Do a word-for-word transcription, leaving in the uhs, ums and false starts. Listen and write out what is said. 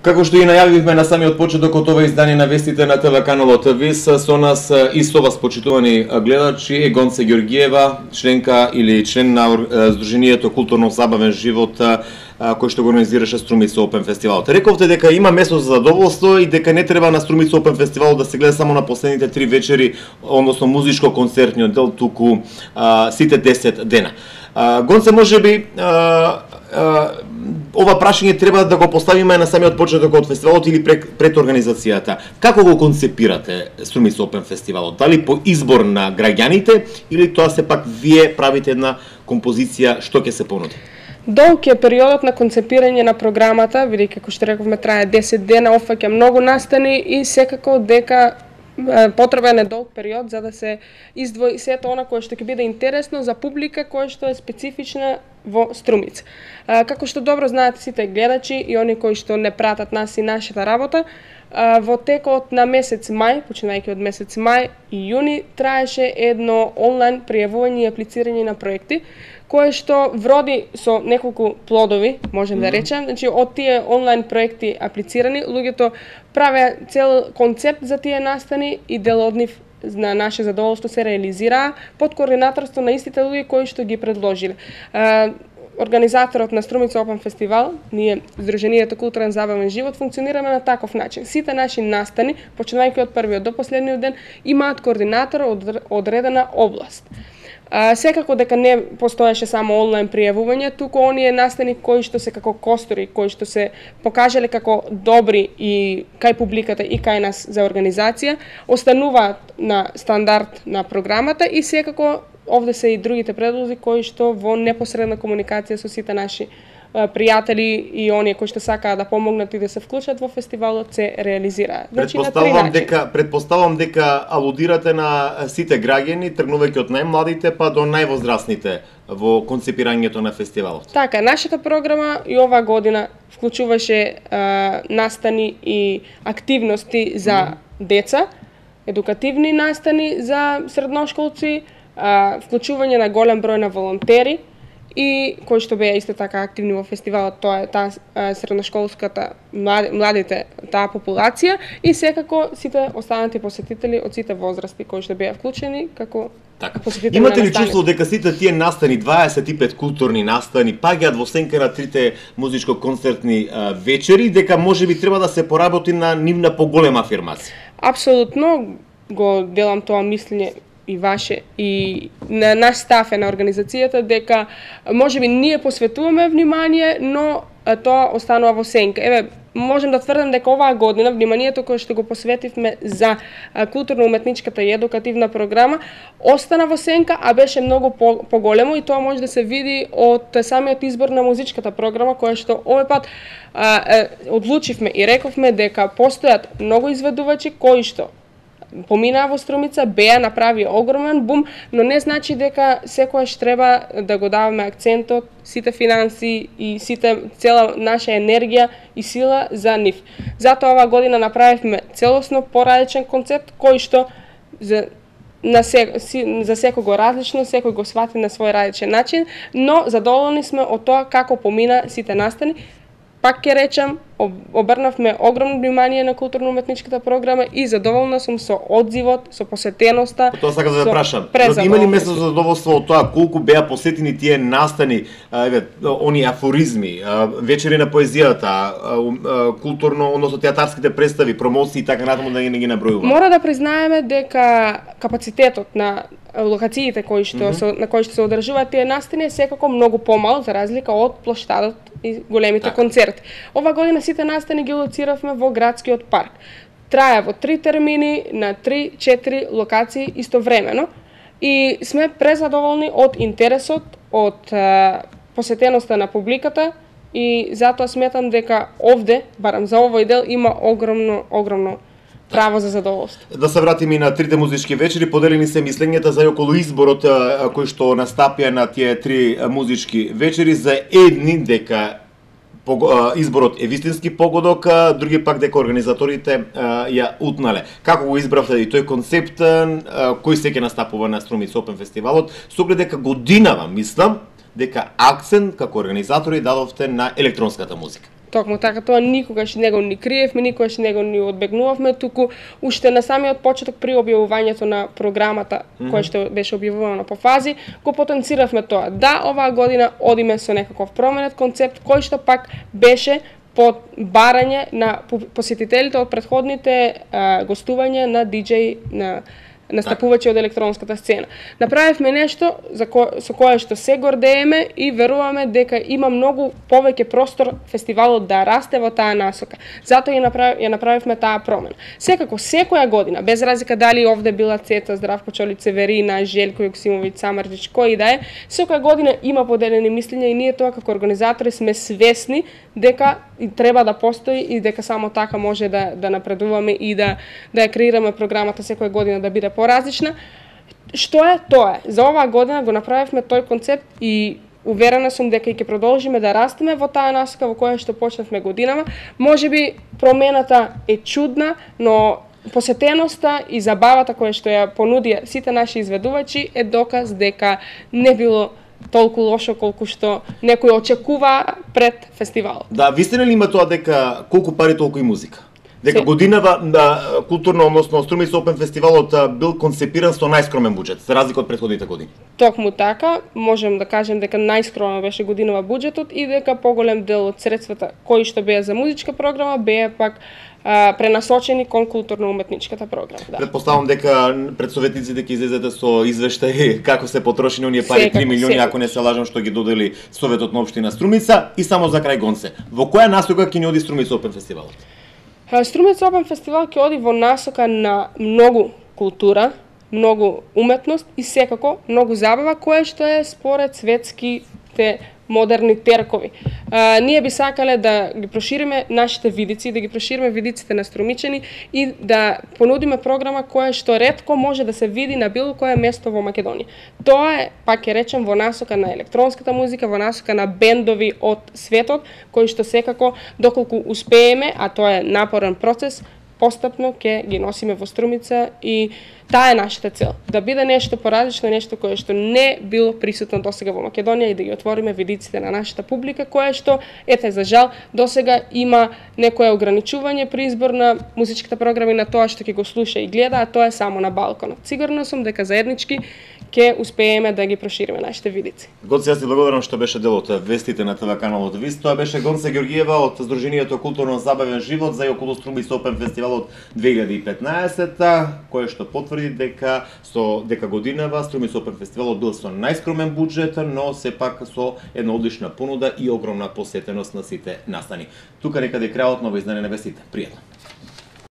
Како што и најавивме на самиот почеток од ова издание на вестите на телеканалот ВИС, со нас и со вас, почитувани гледачи, е Гонце Ѓоргиева, членка или член на Сдруженијето Културно-забавен живот, кој што го организираше Струмица Опен фестивалот. Рековте дека има место за задоволство и дека не треба на Струмица Опен фестивалот да се гледа само на последните три вечери, односно музичко-концертниот дел, туку а, сите десет дена. А, Гонце, можеби а, а, ова прашање треба да го поставиме на самиот почеток од фестивалот или пред, пред организацијата. Како го концепирате Струмица Опен фестивалот? Дали по избор на граѓаните или тоа сепак вие правите една композиција што ќе се понуди? Долг е периодот на концепирање на програмата, бидејќи како што рековме трае десет дена, опфаќа многу настани и секако дека потребен е долг период за да се издвои сето она кое што ќе биде интересно за публика која што е специфична во Струмица. Како што добро знаат сите гледачи и они кои што не пратат нас и нашата работа, во текот на месец мај, починајќи од месец мај и јуни, траеше едно онлайн пријавување и аплицирање на проекти, кое што вроди со неколку плодови, можем mm -hmm. да речем. Значи, од тие онлайн проекти аплицирани, луѓето правеа цел концепт за тие настани и дел од нив на наше задоволство се реализираа под координаторство на истите луѓе кои што ги предложиле. Организаторот на Струмица Опен фестивал, ние Сдруженијето Културен забавен живот, функционираме на таков начин. Сите наши настани, починајќи од првиот до последниот ден, имаат координатор од одредена област. А, секако дека не постоеше само онлайн пријавување, туку оние настани кои што се како костури, кои што се покажале како добри и кај публиката и кај нас за организација, остануваат на стандард на програмата и секако овде се и другите предлози кои што во непосредна комуникација со сите наши пријатели и оние кои што сакаат да помогнат и да се вклучат во фестивалот се реализираат. Значи, предпоставувам дека предпоставувам дека алудирате на сите граѓани, тргнувајќи од најмладите па до највозрастните во концепирањето на фестивалот. Така, нашата програма и оваа година вклучуваше а, настани и активности за mm -hmm. деца, едукативни настани за средношколци, а, вклучување на голем број на волонтери и кои што беа исто така активни во фестивалот, тоа е таа средношколската младите, таа популација и секако сите останати посетители од сите возрасти кои што беа вклучени како така. Имате ли чувство дека сите тие настани, дваесет и пет културни настани, паѓаат во сенка на трите музичко-концертни вечери, дека можеби треба да се поработи на нивна поголема афирмација? Апсолутно го делам тоа мислење и ваше и на наш став е на организацијата дека можеби ние посветуваме внимание, но тоа останува во сенка. Еве, можем да тврдам дека оваа година вниманието кое што го посветивме за културно-уметничката и едукативна програма остана во сенка, а беше многу поголемо и тоа може да се види од самиот избор на музичката програма која што овој пат а, а, одлучивме и рековме дека постојат многу изведувачи кои што поминаа во Струмица, беа направи огромен бум, но не значи дека секојаш треба да го даваме акцентот, сите финанси и сите цела наша енергија и сила за нив. Затоа оваа година направивме целосно поразличен концепт кој што за на се, за секого различно, секој го свати на свој различен начин, но задоволни сме од тоа како помина сите настани. Пак ќе речам, обрнавме огромно внимание на културно-уметничката програма и задоволна сум со одзивот, со посетеноста. Тоа сакам да прашам. Има ли место за задоволство од тоа колку беа посетени тие настани, еве, они афоризми, вечери на поезијата, културно, односно театарските представи, промоции и така натаму, да не ги набројувам? Мора да признаеме дека капацитетот на локациите кои што mm -hmm. на кои што се одржуваат тие настани е секако многу помал за разлика од плоштадот и големите так. концерти. Ова година сите настани ги лоциравме во градскиот парк. Трае во три термини на три-четири локации истовремено и сме презадоволни од интересот, од а, посетеноста на публиката и затоа сметам дека овде, барам за овој дел, има огромно, огромно право за задоволство. Да се вратиме и на трите музички вечери, поделени се мислењата за околу изборот кој што настапија на тие три музички вечери, за едни дека изборот е вистински погодок, други пак дека организаторите ја утнале. Како го избравте и тој концепт, кој се ќе настапува на Струмица Опен фестивалот, со оглед дека годинава, мислам, дека акцент како организатори дадовте на електронската музика? Токму така, тоа никогаш не го ни криевме, никогаш не го ни одбегнувавме, туку уште на самиот почеток при објавувањето на програмата, mm -hmm. која што беше објавувана по фази, го потенциравме тоа. Да, оваа година одиме со некаков променет концепт, кој што пак беше под барање на посетителите од претходните а, гостувања на диџеј, на настапувачи од електронската сцена. Направивме нешто за ко, со кое што се гордееме и веруваме дека има многу повеќе простор фестивалот да расте во таа насока. Затоа ја, направ, ја направивме таа промена. Секако, секоја година, без разлика дали овде била Цета, Здравко Чолиć, Северина, Желко Јоксимовиќ, Самарџич, кој да е, секоја година има поделени мислења и ние тоа како организатори сме свесни дека и треба да постои и дека само така може да, да напредуваме и да, да ја креираме програмата секоја година да биде поразлична. Што е? Тоа е. За оваа година го направивме тој концепт и уверена сум дека и ќе продолжиме да растеме во таа насока во која што почнавме годинава. Можеби промената е чудна, но посетеноста и забавата која што ја понудија сите наши изведувачи е доказ дека не било толку лошо колку што некој очекува пред фестивалот. Да, вистина ли има тоа дека колку пари толку и музика? Дека Се... годинава на културно, односно Струмица Опен фестивалот бил концепиран со најскромен буџет, за разлика од претходните години? Токму така, можем да кажем дека најскромен беше годинава буџетот и дека поголем дел од средствата кои што беа за музичка програма беа пак а, пренасочени кон културно-уметничката програма. Да. Предпоставам дека пред советниците ќе излезете со извештај како се потрошени оние пари, три милиони, ако не се лажам, што ги додели Советот на општина Струмица. И само за крај Гонце, во која насока ќе ни оди Струмица Опен фестивалот? Струмица Опен фестивал ќе оди во насока на многу култура, многу уметност и секако многу забава, која што е според светските модерни теркови. А, ние би сакале да ги прошириме нашите видици, да ги прошириме видиците на струмичани и да понудиме програма која што ретко може да се види на било кое место во Македонија. Тоа е, пак ќе речем, во насока на електронската музика, во насока на бендови од светот, кои што секако, доколку успееме, а тоа е напорен процес, постапно ќе ги носиме во Струмица и таа е нашата цел. Да биде нешто поразлично, нешто кое што не било присутно досега во Македонија и да ги отвориме видиците на нашата публика, која што, ете, за жал, досега има некое ограничување при избор на музичката програма и на тоа што ќе го слуша и гледа, а тоа е само на балконот. Сигурна сум дека заеднички ќе успееме да ги прошириме нашите видици. Гонце, јас ти благодарам што беше дел од вестите на ТВ каналот ВИС. Тоа беше Гонце Ѓоргиева од Сдруженијето Културно забавен живот за и околу Струмица Опен фестивалот две илјади и петнаесета, кој што потврди дека со дека годинава Струмица Опен фестивалот бил со најскромен буџет, но сепак со една одлична понуда и огромна посетеност на сите настани. Тука некаде крајот на ово издание на вестите. Пријатно.